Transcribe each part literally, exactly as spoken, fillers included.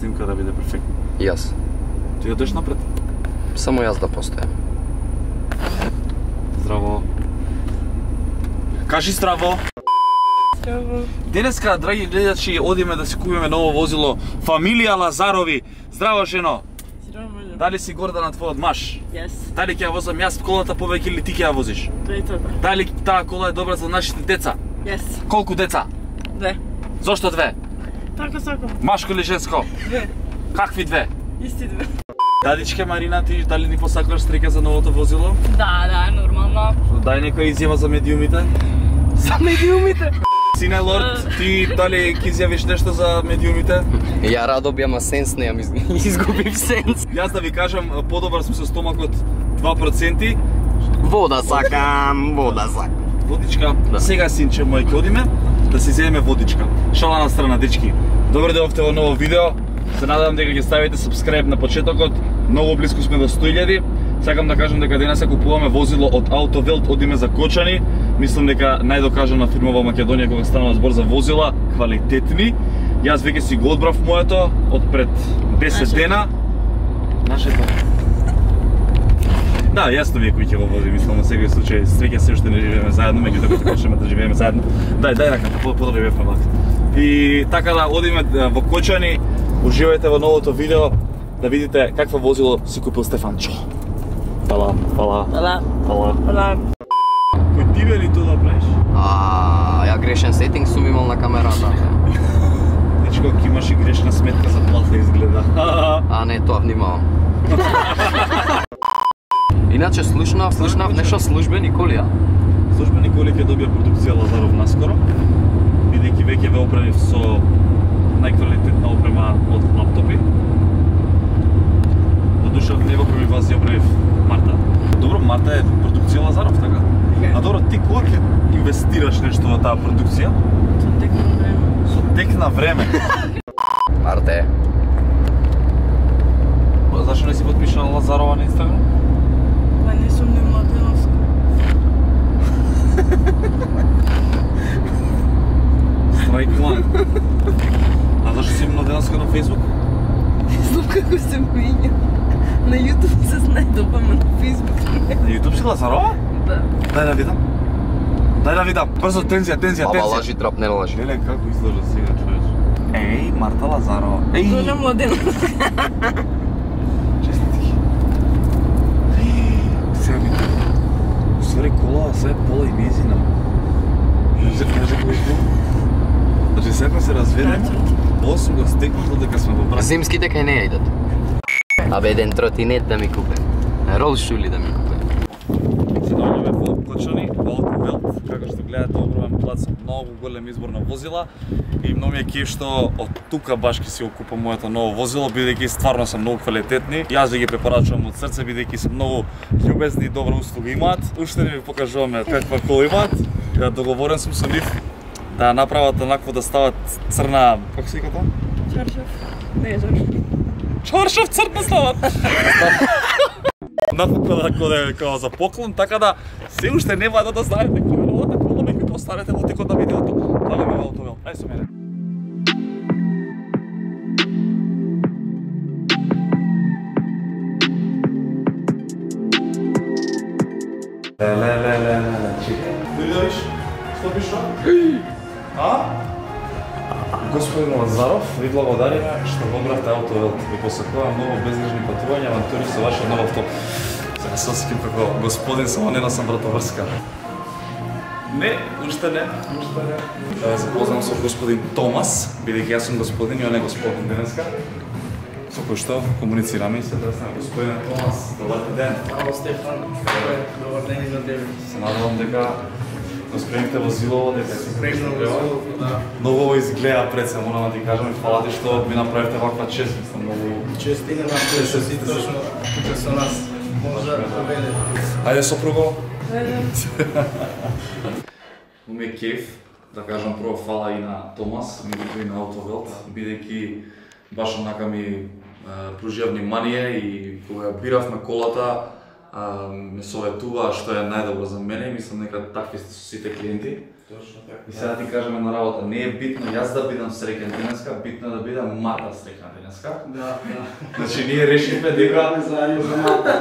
снимка да биде перфектна? Јас. Ти одеш напред? Само јас да постојам. Здраво. Кажи здраво. Здраво. Денеска, драги гледачи, одиме да си купиме ново возило. Фамилија Лазарови. Здраво, жено. Здраво. Дали си горда на твојот маж? Јас. Дали ќе ја возам јас колата повеќе или ти ќе ја возиш? Третата. Дали таа кола е добра за нашите деца? Јас. Колку деца? Две. Зошто две? Така сакам. Машко или женско? Две. Какви две? Исти две. Дадичке Марина, ти дали ни посакуваш среќа за новото возило? Да, да, нормално. Дај некоја изјава за медиумите. За медиумите. Сине Лорд, ти дали ќе изјавиш нешто за медиумите? Ја радо би, ама сенс не ја изгубив сенс. Јас да ви кажам, подобар сум со стомакот два проценти. Вода сакам, вода сакам. Водичка, Да. Сега синче мој ќе одиме да си земеме водичка. Шала на страна, дечки. Добре дојдовте во ново видео. Се надевам дека ќе ставите subscribe на почетокот. Многу близко сме до сто илјади. Сакам да кажам дека денес купуваме возило од Автовелт, одиме за Кочани. Мислам дека најдокажана фирма во Македонија кога станува збор за возила, квалитетни. Јас веќе си го одбрав моето од пред десет дена. Нашето. Да, јасно ми е кој ќе го вози, мислам на секој случај, среќа се уште не живееме заедно, меѓутоа кога почнеме да живееме заедно. Дај, дај раката, подобро бевме лак. И така да одиме во Кочани, уживајте во новото видео да видите какво возило си купил Стефанчо. Фала, фала, Фала. фала. Фала. Кој ти вели тоа да правиш? А, ја грешен сетинг сум имал на камерата. Дечко, ки имаш и грешна сметка за плата изгледа. А не, тоа внимавам. Иначе слушнав, слушнав нешто службени колија. Службени коли ќе добија продукција Лазаров наскоро, бидејќи веќе ве опремив со најквалитетна опрема од лаптопи. Додуша не го опремив вас, ја опремив Марта. Добро, Марта е продукција Лазаров, така? А добро, ти кога ќе инвестираш нешто во таа продукција? Со тек на време. Со тек на време. Марте. Зашто не си подпишала Лазарова на Инстаграм? Па не сум ни младеновска. Страйк план. А зашто си младеновска на Фейсбук? Не знам како се менја. На YouTube се најдобро, ама на Facebook не. На YouTube си Лазарова? Да. Дај да видам. Дај да видам. Брзо, тензија, тензија, Ама тензија. лажи трап, не лажи. Леле, како изглежда сега, човече. Еј, Марта Лазарова. Еј, Доля младеновска. честити. Еј, сега ми... Усвари кола, сега е пола и мезина. Кажи, кажи кој е? Значи, сега се разведем. Ovo сум го стекнал додека сме во брак. Зимските кај не ја идат. Абе, еден тротинет да ми купе. Ролшули да ми купе. Се наоѓаме во Кочани, во Автовелт, како што гледате огромен плац, многу голем избор на возила и многу ми е кеф што од тука баш ќе си го купам моето ново возило, бидејќи стварно се многу квалитетни. Јас ви ги препорачувам од срце, бидејќи се многу љубезни и добра услуга имаат. Уште не ви покажуваме каква кола имаат. Ја договорен сум со нив да направат онакво да стават црна, како се вика тоа? Чаршав. Не, чаршав. Чаршав црна стават. Напокон да коде како за поклон, така да се уште нема да знаете кој е новата кола, меѓутоа останете во текот на видеото. Даваме во Автовелт. Ај со мене. Ле ле ле ле чекај. Видиш? Што пиша? А? Господин Лазаров, ви благодариме што го одбравте Автовелт. Ви посакувам многу безгрижни патувања, авантури со вашиот нов авто. Сега се осеќам како господин, само не носам вратоврска. Не, уште не, уште не. Да ве запознам со господин Томас, бидејќи јас сум господин и он е господин денеска. Со кој што комуницираме и се дресна господин Томас. Добар ден. Ало Стефан, добар ден и за тебе. Се надевам дека го спремите возилово, дека си Спремно возилово, да. Многу изгледа пред се, морам да ти кажам и фала ти што ми направивте ваква чест, мислам многу. Честина на сите точно тука со нас. Може да поведе. Ајде сопруго. Ајде. Ме кеф, да кажам прво фала и на Томас, меѓутоа и на Автовелт, бидејќи баш онака ми пружија внимание и кога биравме колата, ме советува што е најдобро за мене и мислам дека такви сте со сите клиенти. Точно така. И сега ти кажеме на работа, не е битно јас да бидам среќен денеска, битно е да бидам Марта среќна денеска. Да, да. Значи ние решивме дека Заедно за Марта.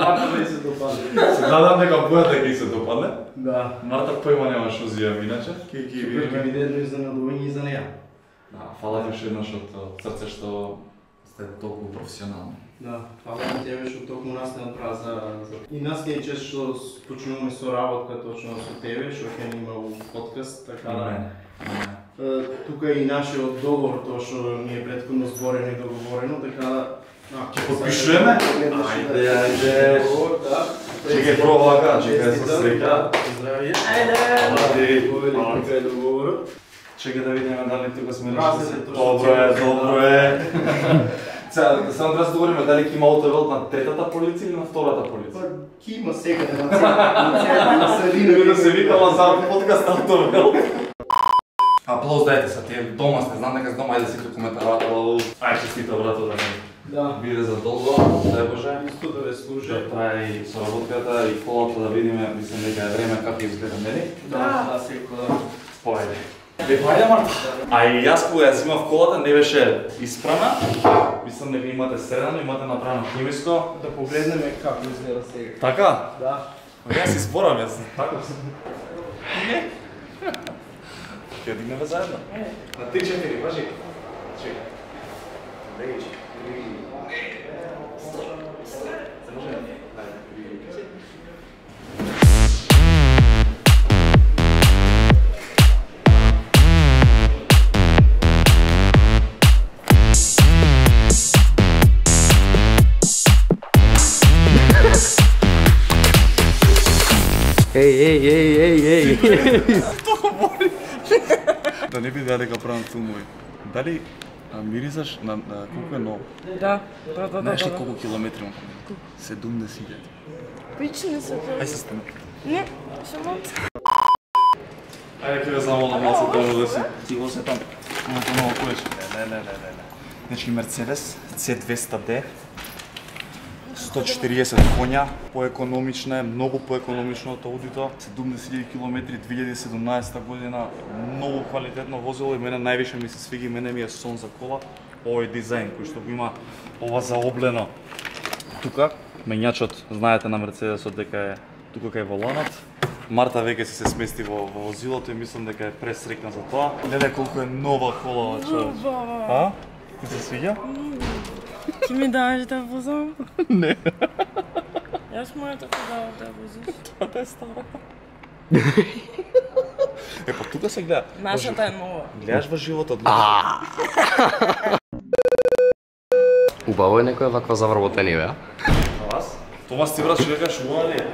Марта да се допадне. се надам дека бојата ќе се допадне. Да. Марта појма нема што зијам иначе. Ке ќе Ќе видиме. биде едно изненадување и за неја. Да, фала ти уште еднаш од од срце што сте толку професионални. Да, фала на тебе што токму нас не отправа за, за... И нас не е чест што почнуваме со работка точно со тебе, што ќе ни има у подкаст, така да... Не, Тука е и нашиот договор, тоа што ни е претходно зборено и договорено, така да... Ќе подпишуваме? Ајде, ајде. Да. Чекај прво вака, чекај со среќа. Здравје. Ајде! Ајде. Тука е договорот. Чекај да видиме дали тука сме Разлика решили. точно. Добро е, добро е. Сега, само треба да се договориме дали ќе има аутовелт на третата полица или на втората Па, полица. ки има секаде на цела, на средина. Да се вика Лазар подкаст аутовелт. Аплауз дајте се, тие дома сте, знам дека с дома, ајде секој коментар, аплауз. Ај честито брато да не Да. биде за долго, дај Боже. Исто да ве служи. Да трае и соработката и колата да видиме, мислам дека е време како изгледа, нели? Да, да, секој да. Поајде. Бе, поајде Марта. А и јас кога ја земав колата не беше испрана. Мислам дека имате средано, имате направено химиско. Да погледнеме како изгледа сега. Така? Да. Јас си зборам, јас така сум. Не. Ќе дигнеме заедно. На три четири, важи. Чекај. Леги. Еј, еј, еј, еј, еј. Да не биде дека правам филмови. Дали а, мирисаш на, на колку е ново? Да, да, да, да. Знаеш ли да. колку километри имам? седумдесет илјади. Пич не се Ај се стане. Не, само... Ајде ќе ве замолам малку долу да си. Ти го се там. Малку ново коеш. Не, не, не, не, не. Значи Мерцедес С двеста Д. сто и четириесет коња, поекономична е, многу поекономично од Аудито. седумдесет илјади километри две илјади и седумнаесета година, многу квалитетно возило и мене највише ми се свиги, мене ми е сон за кола, овој дизајн кој што го има ова заоблено. Тука мењачот, знаете на Мерцедесот дека е тука кај воланот. Марта веќе си се смести во, во возилото и мислам дека е пресрекна за тоа. Гледај колку е нова кола, човек. Баба, А? Ти се свиѓа? ти ми даваш да возам? Не. Јас мојата ти давам да возиш. Тоа е стара. Е, па тука се гледа. Нашата е нова. Гледаш во животот. Убаво е некоја ваква завработени, бе? А вас? Томас ти брат што кажеш убава ли е?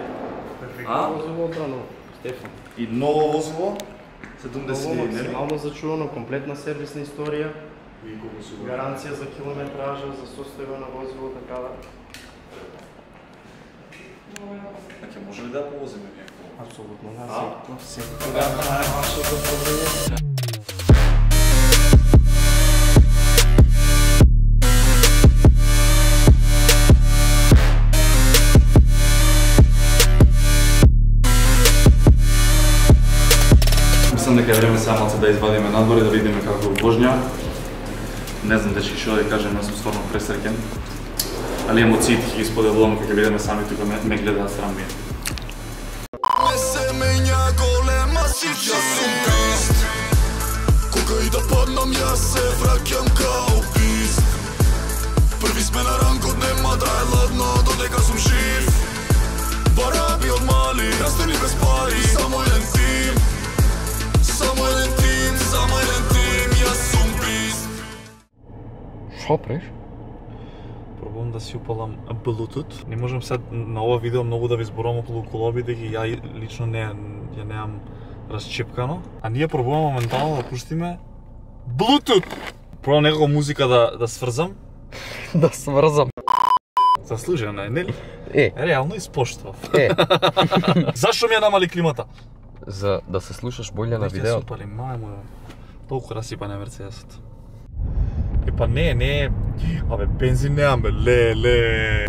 А? Возило одрано, Стефан. И ново возило? седумдесет Ново, илјади, нели? максимално зачувано, комплетна сервисна историја, И колку се гаранција за километража, за состојба на возило, така да. Ќе може ли да повозиме некој? Апсолутно, да, А? секој, секој. Да, да, вашето добродење. Мислам дека е време самоца да извадиме надвор и да видиме како е воžња. Не знам дечки што да кажем, јас сум стварно пресреќен. Али емоциите ќе ги споделувам кога ќе видиме сами тука ме, ме гледаат срам ми. Не се менја голема сича сум бист. Кога и да паднам јас се враќам као бист. Први сме на ранкот, нема да е ладно додека сум жив. Бараби од мали, растени без пари, само еден тим. Само еден тим, само еден тим, јас сум бист. Шо преш? Пробувам да си упалам Bluetooth. Не можам сега на ова видео многу да ви зборувам околу колоби, дека ја лично не ја немам расчепкано. А ние пробуваме моментално да пуштиме Bluetooth. Пробувам некако музика да да сврзам. Да сврзам. Заслужено е, нели? Е, Реално испоштував. е. Зашо ми ја намали климата? За да се слушаш болje на Веќе видео. супали, мајмо. Толку расипане Мерцедесот. Е, па не, не. Абе, бензин неам, бе, леле.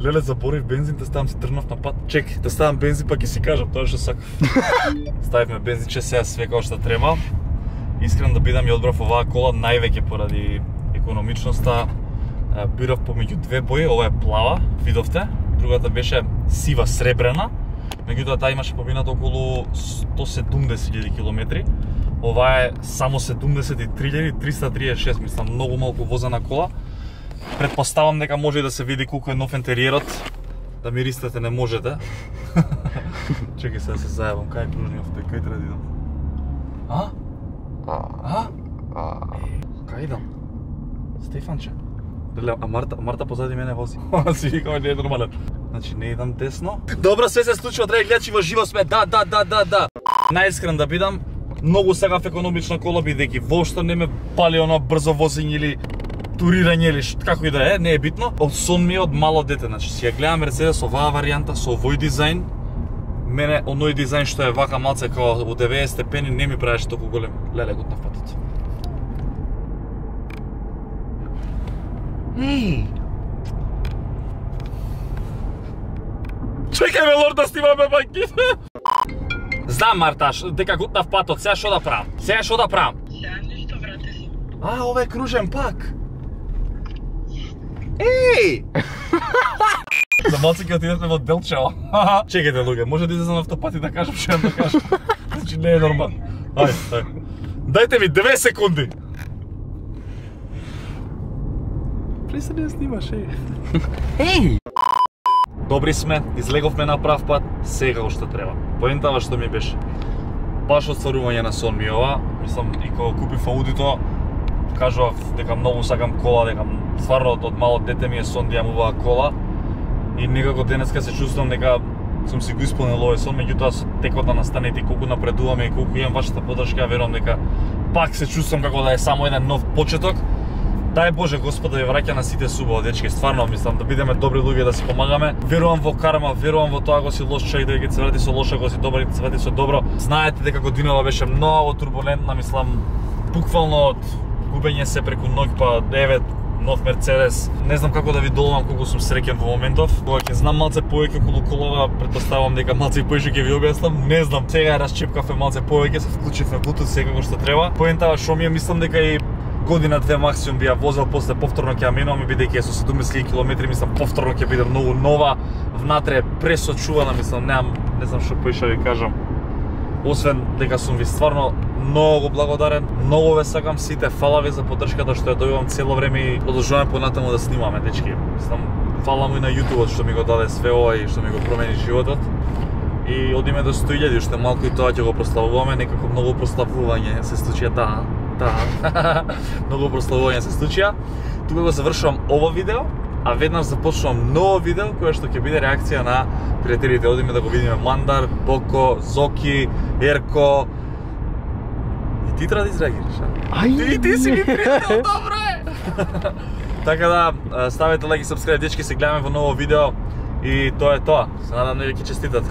Леле, заборив бензин, те ставам си тргнав на пат. Чек, те ставам бензин, па ќе си кажам тоа што сакав. Ставивме бензинче, сега све како што треба. Искрен да бидам и одбрав оваа кола највеќе поради економичноста. Бирав помеѓу две бои, ова е плава, видовте. Другата беше сива сребрена. Меѓутоа таа имаше поминато околу сто седумдесет илјади километри. Ова е само седумдесет и три илјади триста триесет и шест, мислам, многу малку возена кола. Предпоставам дека може и да се види колку е нов интериерот. Да ми ристате не можете. Чекај се да се зајавам, кај е кружниот, кај треба да идам? А? А? Кај идам? Стефанче. Леле, а Марта, Марта позади мене вози. Си викаме, не е нормален. Значи не идам десно. Добро, све се случува, драги гледачи, во живо сме. Да, да, да, да, да. Најискрен да бидам, многу сакав економична кола, бидејќи воопшто не ме пали оно брзо возење или турирање или како и да е, не е битно. Од сон ми е од мало дете, значи си ја гледам Мерцедес оваа варијанта со овој дизајн. Мене оној дизајн што е вака малце како во деветдесет степени не ми правеше толку голем леле гот на патот. Еј! Чекај ме, лорд, да снимаме банките! Знам, Марта, дека гутнав патот, сега шо да правам? Сега шо да правам? Сега ништо, брате си. А, ова е кружен пак. Еј! За малце ќе отидеме во Делчево. Чекајте, луѓе, може да излезам автопат и да кажам што да кажам. Значи не е нормално. Ајде, ајде. Дајте ми две секунди. Престани да снимаш, еј. Еј! Добри сме, излеговме на прав пат, сега уште треба. Поентава што ми беше. Баш отстварување на сон ми ова. Мислам, и кога купив аудито, кажував дека многу сакам кола, дека стварно од мало дете ми е сон да имам оваа кола. И некако денеска се чувствувам дека сум си го исполнил овој сон, меѓутоа со текот на настаните и колку напредуваме и колку имам вашата поддршка, верувам дека пак се чувствувам како да е само еден нов почеток. Дај Боже Господ да ја враќа на сите субаво, дечки, стварно мислам да бидеме добри луѓе, да си помагаме. Верувам во карма, верувам во тоа го си лош човек, дека ќе се врати со лошо, го си добар и ќе се врати со добро. Знаете дека годинава беше многу турбулентна, мислам, буквално од губење се преку ноќ па девет нов Мерцедес. Не знам како да ви доловам колку сум среќен во моментов. Кога ќе знам малце повеќе околу колава, претпоставам дека малце и поише ќе ви објаснам. Не знам, сега расчепкавме малце повеќе, се вклучивме Bluetooth секако што треба. Поентава што ми е, мислам дека и година две максимум би ја возел, после повторно ќе ја менуваме, бидејќи е со седумдесет илјади километри, мислам повторно ќе биде многу нова, внатре пресочувана, мислам, немам, не знам што поише ви кажам. Освен дека сум ви стварно многу благодарен, многу ве сакам сите, фала ви за поддршката што ја добивам цело време и продолжуваме понатаму да снимаме, дечки. Мислам, фала му и на YouTube што ми го даде све ова и што ми го промени животот. И одиме до сто илјади, уште малку и тоа ќе го прославуваме, некако многу прославување се случија, да. Да. Многу прославување се случија. Тука го завршувам ово видео, а веднаш започнувам ново видео кое што ќе биде реакција на пријателите. Одиме да го видиме Мандар, Боко, Зоки, Ерко. И ти треба да изреагираш, а? Ти, ти си ми пријател, добро е! Така да, ставете лайк и сабскрајб, дечки, се гледаме во ново видео и тоа е тоа. Се надам да ви ќе честитат.